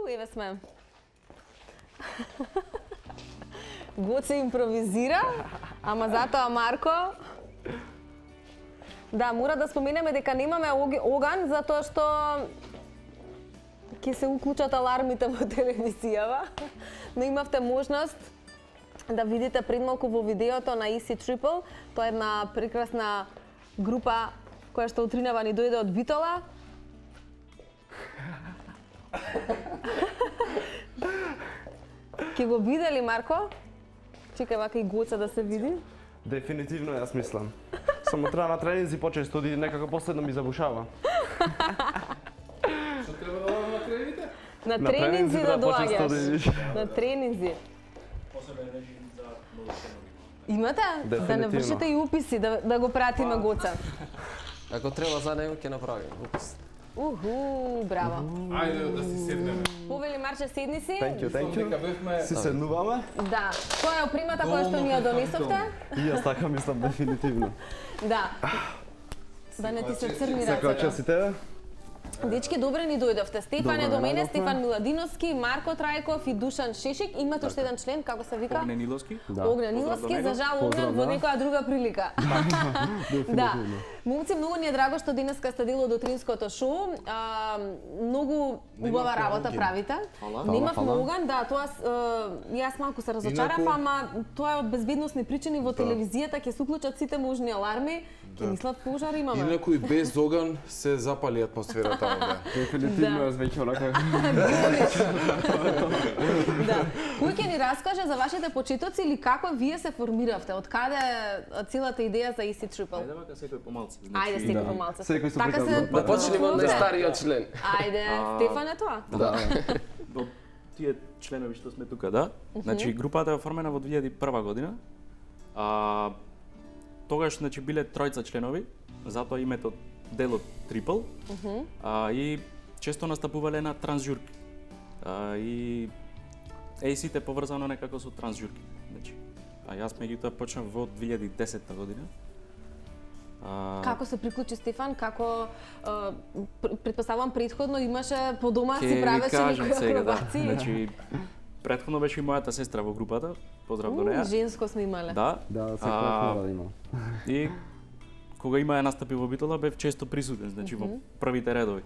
Еве сме. Гоце импровизира, ама затоа Марко. Да, мора да споменеме дека немаме оган, затоа што ќе се уклучат алармите во телевизијава, но имавте можност да видите пред малку во видеото на Easy Triple. Тоа е една прекрасна група која што утринава ни дојде од Битола. Ке го биде ли, Марко? Чекај вака и Гоца да се види. Дефинитивно, јас мислам. Само треба на тренинзи почесто, оди некако последно ми забушава. Што треба да одам на тренинзите? На тренинзи да доаѓаш. На тренинзи. Посебен режим за младошенови. Имате? Да не вршите и уписи, да го пратиме Гоца. Ако треба за него, ќе направим упис. Браво. Ајде да си седнеме. Повели Марче, седни си. Thank you. Си седнуваме? Да. Тоа е опримата која што ни ја донесовте? И јас така мислам дефинитивно. Да. Да не ти се црни рацете. Секоја чест и тебе. Дечки, добре ни дојдовте. Стефан е до мене, Стефан Миладиновски, Марко Трајков и Душан Шешик. Имате уште еден член, како се вика? Огнен Иловски. Огнен Иловски, за жал Огнен во некоја друга прилика. Да. Момци, многу ни е драго што денеска сте дел од утринското шоу. Многу убава работа правите. Немавме оган, да, тоа јас малку се разочарав, ама тоа е од безбедносни причини во телевизијата ќе се уклучат сите можни аларми, ќе мислат пожар имаме. Инаку и без оган се запали атмосферата овде. Дефинитивно јас веќе онака. Да. Кој ќе ни раскаже за вашите почетоци или како вие се формиравте? Од каде целата идеја за Easy Triple? Ајде вака секој помалку. Ајде секој помалку. Секој се Така се Да почнеме од најстариот член. Ајде, Стефан е тоа. Да. Од тие членови што сме тука, да? Значи групата е оформена во 2001 година. Тогаш значи биле тројца членови, затоа името делот Triple. И често настапувале на трансжурки. И AC-те поврзано некако со трансжурки. Значи, јас меѓутоа почнав во 2010 година. Како се приклучи Стефан? Како претпоставувам претходно имаше по дома си правеше некои акробации? Значи претходно беше и мојата сестра во групата. Поздрав до неа. Женско сме имале. Да. Да, секој мора да има. И кога имаа настапи во Битола бев често присутен, значи во првите редови.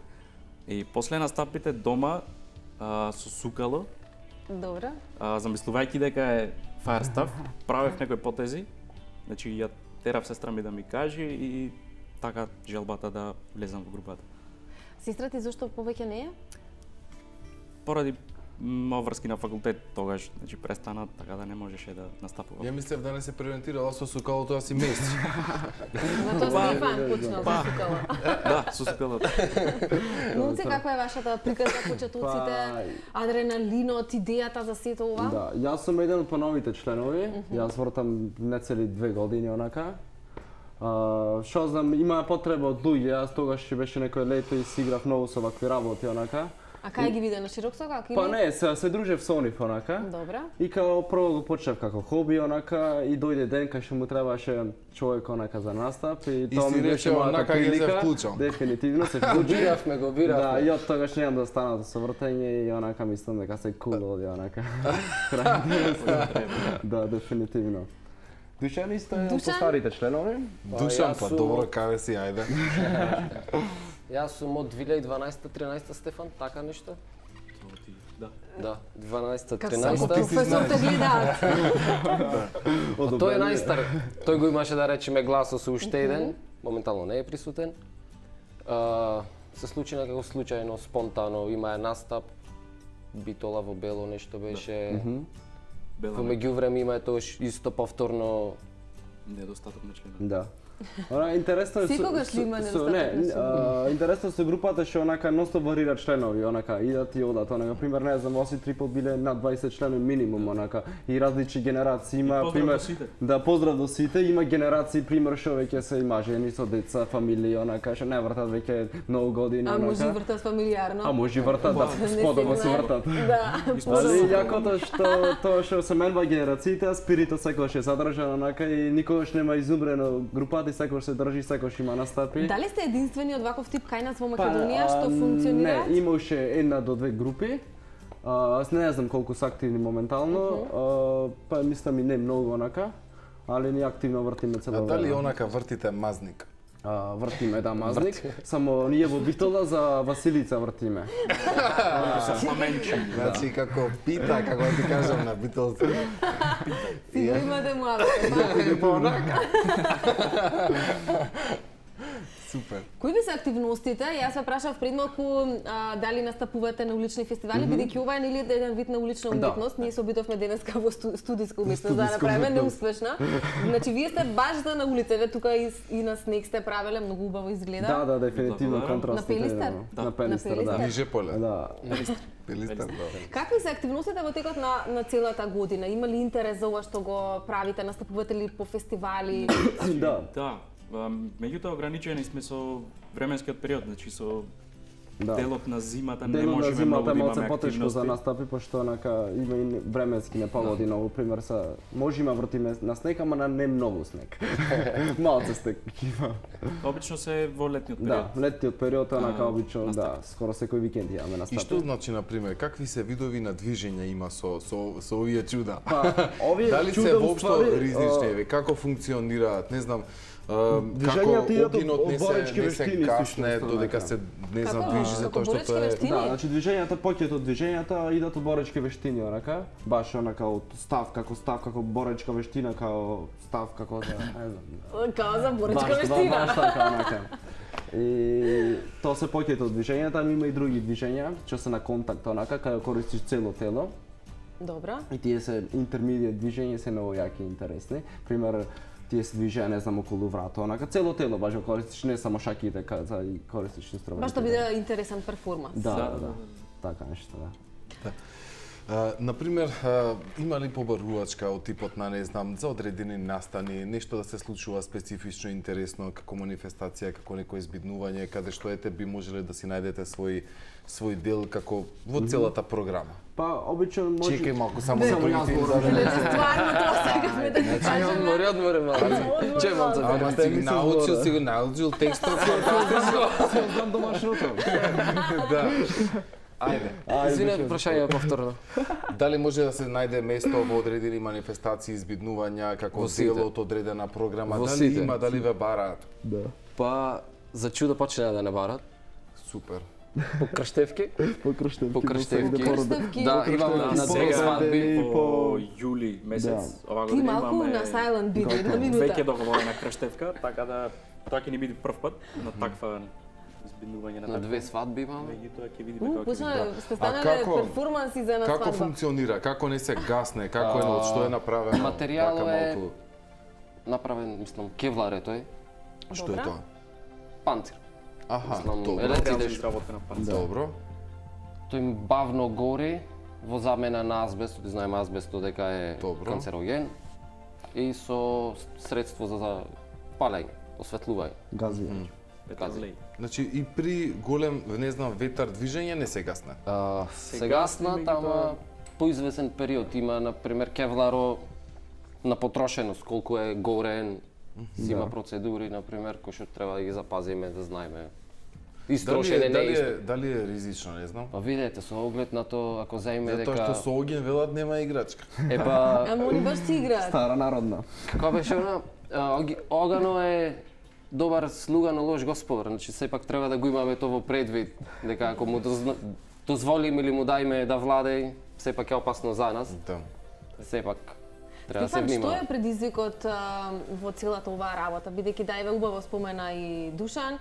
И после настапите дома со сукало. Добро. Замислувајќи дека е fire stuff, правев некои потези. Значи ја терав сестра ми да ми каже и така желбата да влезам во групата. Сестра ти зошто повеќе не е? Поради обврски на факултет тогаш, значи престана, така да не можеше да настапува. Ја мислев да не се превентирала со сукалото да си меси. Затоа Стефан почнал со сукало. Да, со сукалото. Момци, каква е вашата приказна почетоците, адреналинот, идејата за сето ова? Да, јас сум еден од поновите членови. Јас вртам нецели 2 години онака. Што знам, има потреба од луѓе, јас тогаш ќе беше некој лето и си играв многу со вакви работи онака. А кај ги виде на Широксока? Па не, се дружев со нив онака. Добра. И као прво го почнав како хоби онака и дојде ден кај што му требаше човек онака за настап и тоа ми беше мојата прилика. Дефинитивно се вклучив. Го биравме. Да, и од тогаш немам да станам со вртење и онака мислам дека се кул оди онака. Да, дефинитивно. Душан исто е од старите членови. Душан, па добро, каде си, ајде. Јас сум од 2012-13 Стефан, така нешто? Да. Да, 12-13. Како професор те гледаат. Тој е најстар. Тој го имаше да речеме гласо со уште еден, моментално не е присутен. Се случи некако случајно, спонтано, има е настап, Битола во бело нешто беше. Во меѓувреме има тоаш исто повторно недостаток на членови. Да. Она интересно е Секогаш ли има недостаток? Интересно со групата што онака ностоп варира членови, онака идат и одат, онака пример не знам, Easy Triple биле над 20 членови минимум онака и различни генерации има пример. Да, поздрав до сите, има генерации пример што веќе се има жени со деца, фамилии, онака што не вртат веќе многу години онака. А може вртат фамилиарно? А може вртат, да, сподобно се вртат. Да. Али јакото што тоа што се менува генерациите, спиритот секогаш е задржан онака и никогаш нема изумрено групата работи, секој се држи, секој има настапи. Дали сте единствени од ваков тип кај нас во Македонија што функционира? Не, имаше 1 до 2 групи. Не знам колку се активни моментално, па мислам и не многу онака, али ние активно вртиме цело време. Дали онака вртите мазник? Вртиме, да, мазник. Само ние во Битола за Василица вртиме. Значи, како пита, како да ти кажам на Битолци. Си имате муабет, па онака. Супер. Кои ви се активностите? Јас ве прашав пред малку дали настапувате на улични фестивали, бидејќи ова е нели еден вид на улична уметност. Ние се обидовме денеска во студиска уметност да направиме неуспешна. Значи вие сте баш за на улица, тука и на снег сте правеле, многу убаво изгледа. Да, дефинитивно контраст. На Пелистер? На Пелистер, да. Ниже поле. Да. Пелистер, да. Какви се активностите во текот на целата година? Има ли интерес за ова што го правите? Настапувате ли по фестивали? Да. Да. Меѓутоа ограничени сме со временскиот период, значи со делот на зимата не можеме многу да имаме активности. потешко за настапи, пошто онака има и временски непогоди, но пример можеме вртиме на снег, ама на не многу снег. Малце снег има. Обично се во летниот период. Да, летниот период онака обично, да, скоро секој викенд имаме настапи. И што значи на пример, какви се видови на движење има со овие чуда? Па, овие дали чуда се воопшто ризични, како функционираат, не знам, како огинот не се касне додека се не знам движи за тоа што тоа е. Да, значи движењата, поќето од движењата идат од боречки вештини онака, баш онака од став како боречка вештина, како став како за, не знам. Како за боречка вештина. Баш така онака. И тоа се поќето од движењата, ама има и други движења, што се на контакт онака, кај користиш цело тело. Добра. И тие се интермедијат движења, се многу јаки и интересни. Пример, тие се движења, не знам, околу врата, онака цело тело баш го користиш, не само шаките, за и користиш инструменти. Баш да биде интересен перформанс. Да. Така нешто, да. Например, има ли побарувачка од типот на, не знам, за одредени настани, нешто да се случува специфично интересно како манифестација, како некое избиднување, каде што ете би можеле да си најдете свој дел како во целата програма? Па, обично може... Чекај малку, само за први Стварно тоа сакавме да ти кажеме. Одмори малку. Че малку. Ама си го научил текстот. Знам домашното. Да. Ајде. Извинете, прашање повторно. Дали може да се најде место во одредени манифестации, избиднувања, како дел од одредена програма? Дали има, дали ве бараат? Да. Па, за чудо почнаа да не барат. Супер. По крштевки. По крштевки. Да, имаме на две свадби по јули месец. Ова Ти година малку имаме на silent биде, една минута. веќе договорена крштевка, така да тоа ќе ни биде прв пат на таква избиднување на две свадби имаме. Меѓутоа ќе видиме како ќе Почна биде. сте станале перформанси за на свадба. Како функционира? Како не се гасне? Како е, од што е направено? Материјалот е направен, мислам, кевлар е тој. Што е тоа? Панцир. Аха, елеците изработена панцир. Добро. Тој бавно гори во замена на азбест, ти знаеме азбестот дека е канцероген и со средство за палење, осветлување. Гази. Значи и при голем, не знам, ветар движење не се гасне. Се гасна, тама по извесен период има, например, кевларо на потрошеност, колку е горен, си има процедури, например, кои што треба да ги запазиме, да знаеме. Истрошене не е. Дали е ризично, не знам. Па видете, со оглед на тоа, ако заиме дека... Затоа што со оген велат нема играчка. Епа... Ама они баш си играат. Стара народна. Како беше она? Огано е добар слуга, но лош господар. Значи, сепак треба да го имаме тоа во предвид, дека ако му дозволиме или му дајме да владеј, сепак е опасно за нас. Да. Сепак треба да се Стефан, внимава. што е предизвикот во целата оваа работа? Бидејќи дајве убаво спомена и Душан,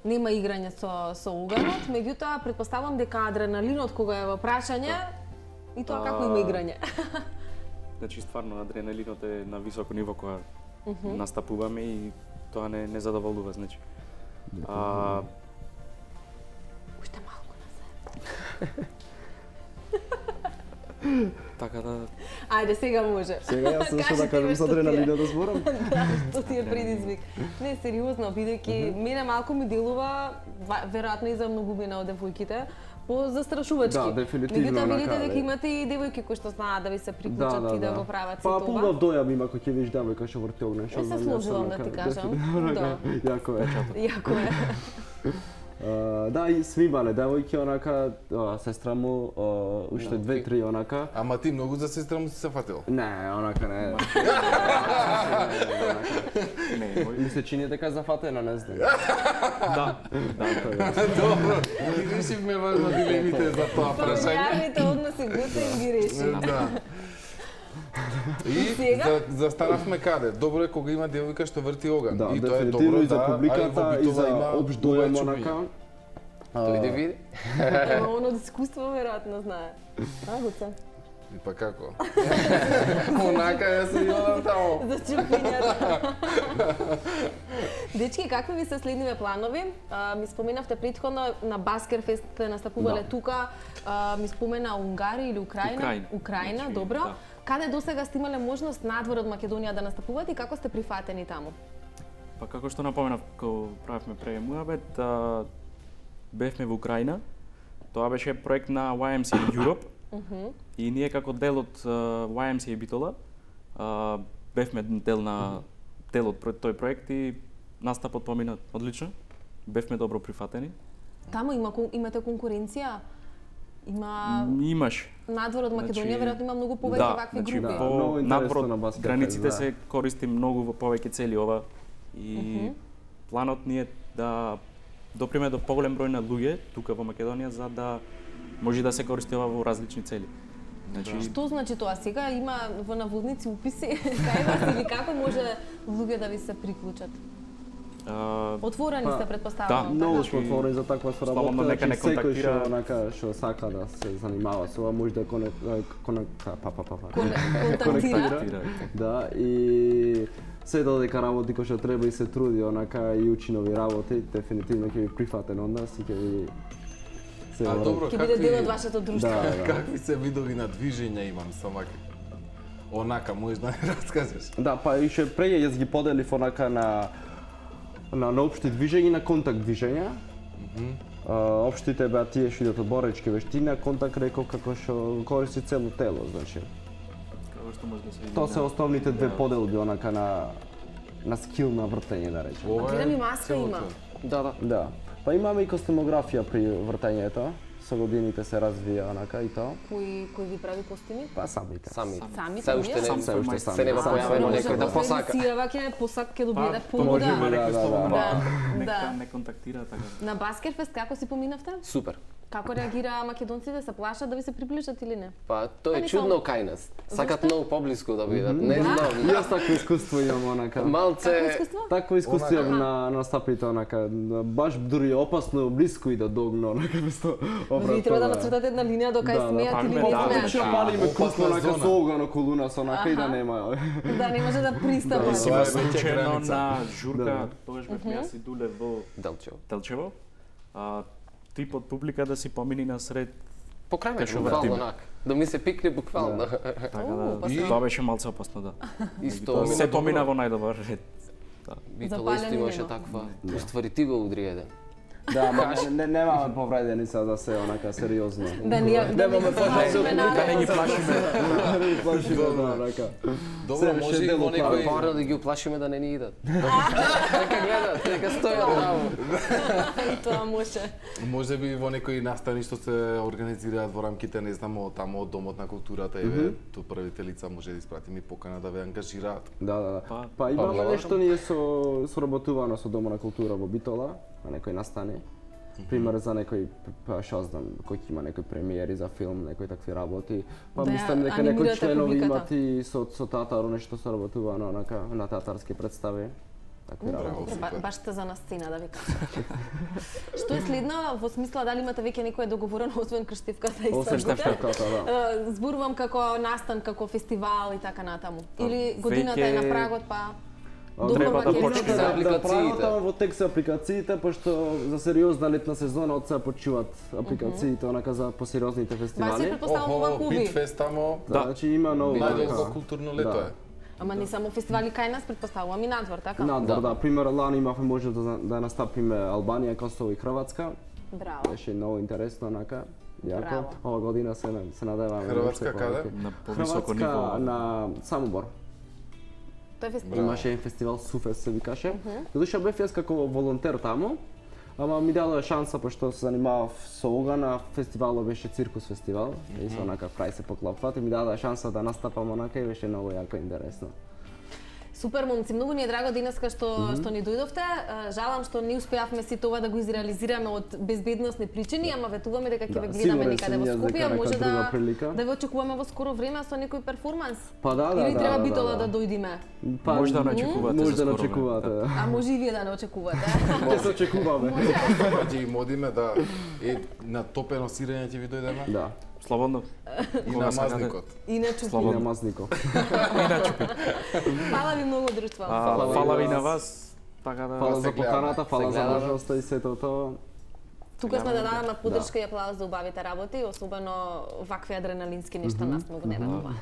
нема играње со уганот, меѓутоа претпоставувам дека адреналинот кога е во прашање и тоа како има играње. Значи стварно адреналинот е на високо ниво кога настапуваме и тоа не задоволува, значи. Уште малку назад. Така да... Ајде, сега може. Сега јас што да кажам со адреналинот да зборам? Да, што ти е предизвик. Не, сериозно, бидејќи мене малку ми делува, веројатно и за многумина од девојките, по-застрашувачки. Да, дефинитивно. Меѓутоа видите дека имате и девојки кои што знаат да ви се приклучат и да го прават се тоа. Па пулгав дојам има кој ќе видиш девојка што врти огне. Се сложувам да ти кажам. Јако е. Јако е. Да, и свимале девојки, онака, сестра му, уште 2-3 онака. Ама ти многу за сестра му си се фатил? Не, онака не. Ми се чини дека зафатена, не знам. Да. Добро, ги решивме важно дилемите за тоа прашање. Фамилиарните односи Гуцен ги реши. Да. И застанавме каде? Добро е кога има девојка што врти оган. Да, и тоа е дефинитивно добро и за публиката, и за општ дојам онака. Тој да види. Ема он од искуство веројатно знае. Гуцен? И па како? Онака ја се јодам таму. За чупињата. Дечки, какви ви се следниве планови? Ми споменавте претходно на Баскерфест настапувале тука. Ми спомена Унгарија или Украина? Украина, добро. Каде досега сте имале можност надвор од Македонија да настапувате и како сте прифатени таму? Па како што напоменав кога правевме пред муабет, бевме во Украина. Тоа беше проект на YMCA Europe. И ние како дел од YMCA Битола бевме дел од тој проект и настапот помина одлично. Бевме добро прифатени. Таму имате конкуренција? Имаш. Надвор од Македонија веројатно има многу повеќе вакви групи. По надвор од границите се користи многу во повеќе цели ова и планот ни е да доприме до поголем број на луѓе тука во Македонија за да може да се користи ова во различни цели. Што значи тоа? Сега има во наводници уписи кај вас или како може луѓе да ви се приклучат? Отворени сте, предпоставувам. Да, многу сме отворени за таква соработка, нека не контактира. Секој што сака да се занимава со ова може да контактира. Да, и се додека работи кој што треба и се труди, онака и учи нови работи, дефинитивно ќе ви прифатен од нас и ќе ви добро, ќе биде дел од вашето друштво. Какви се видови на движење имам сама? Онака, можеш да не раскажеш? Да, па и ше преќе јас ги поделив онака на општи движења и на контакт движења. Општите беа тие што идат од боречки вештина, контакт реков како што користи цело тело, значи. Како што може да се види. Тоа се основните две поделби онака на скил на вртење, да речеме. Гледам и маска има. Да. Па имаме и костюмографија при вртењето. Со годините се развија онака и тоа. Кој ви прави костими? Па самите. Се уште не појавено некој да посака. Сирава ќе посак ќе добие понуда. Нека не контактира така. На Баскерфест како си поминавте? Супер. Како реагира македонците? Се плашат да ви се приближат или не? Па тоа е чудно кај нас. Сакат многу поблиску да бидат. Не знам. Јас такво искуство имам онака. Малце такво искуство имам на настапите онака. Баш дури опасно блиску и да догна онака место. Ви треба да нацртате една линија до кај смеат или не смеат. Што палиме кусно онака со оган околу нас онака и да нема. Да не може да пристапа. Тоа е случајно на журка, тогаш бевме јас и Дуле во Делчево. Тип од публика да си помини насред покрај мене, буквално онак. Да ми се пикне буквално. Така да, тоа беше малце опасно, да. Исто се помина во најдобар ред. Битола исто имаше таква. Уствари ти го удри еден. Да, немаме повредени сега да се онака сериозно. Немаме повредени. Да не ги плашиме. Да не ги плашиме, онака. Добро, може и во некој порано да ги уплашиме да не ни идат. Нека гледат, нека стојат таму. И тоа може. Може би во некои настани што се организираат во рамките, не знам, таму од Домот на културата, еве, тоа првите лица може да испратиме и покана да ве ангажираат. Да. Па имаме нешто ние соработувано со Домот на култура во Битола, на некој настани. Пример за некој, што знам, кој има некој премиери за филм, некои такви работи. Па мислам дека некои членови имат и со театар нешто соработувано на театарски представи. Такви работи. Баш сте за на сцена, да ви кажам. Што е следно во смисла дали имате веќе некое договорено освен крштивката и крштивката, да. Зборувам како настан, како фестивал и така натаму. Или годината е на прагот, па треба да почне за апликациите. Во тек се апликациите, пошто за сериозна летна сезона од сега почнуваат апликациите онака за посериозните фестивали. Баш се претпоставам ова клуби. Питфест тамо. Значи има нови. Најдолго културно лето е. Ама не само фестивали кај нас, претпоставувам и надвор, така? Надвор, да. Пример, лани имавме можност да настапиме Албанија, Косово и Хрватска. Браво. Беше многу интересно, онака. Јако. Ова година се надеваме. Хрватска каде? На повисоко ниво. Хрватска на Самобор. Тој фестивал. Имаше еден фестивал Суфест се викаше. Додуша бев јас како волонтер таму, ама ми дадоа шанса пошто се занимавав со ога на фестивалот беше циркус фестивал, и со онака крај се поклопват и ми дадоа шанса да настапам онака и беше многу јако интересно. Супер, момци, многу ни е драго денеска што ни дојдовте. Жалам што не успеавме сите ова да го изреализираме од безбедносни причини, ама ветуваме дека ќе ве гледаме некаде во Скопје, може да ве очекуваме во скоро време со некој перформанс. Па да. Или треба битола да дојдиме? Може да не очекувате. Може да не очекувате. А може и вие да не очекувате. Ќе се очекуваме. Ќе им одиме да на топено сирење ќе ви дојдеме. Да. Слободно. И на мазникот. И на чупи. И на мазникот. И на чупи. Фала ви многу, друштво. Фала ви на вас. Така да. Фала за поканата, фала за можноста и сето тоа. Тука сме да дадеме поддршка и аплауз за убавите работи, особено вакви адреналински нешта нас многу не ветува.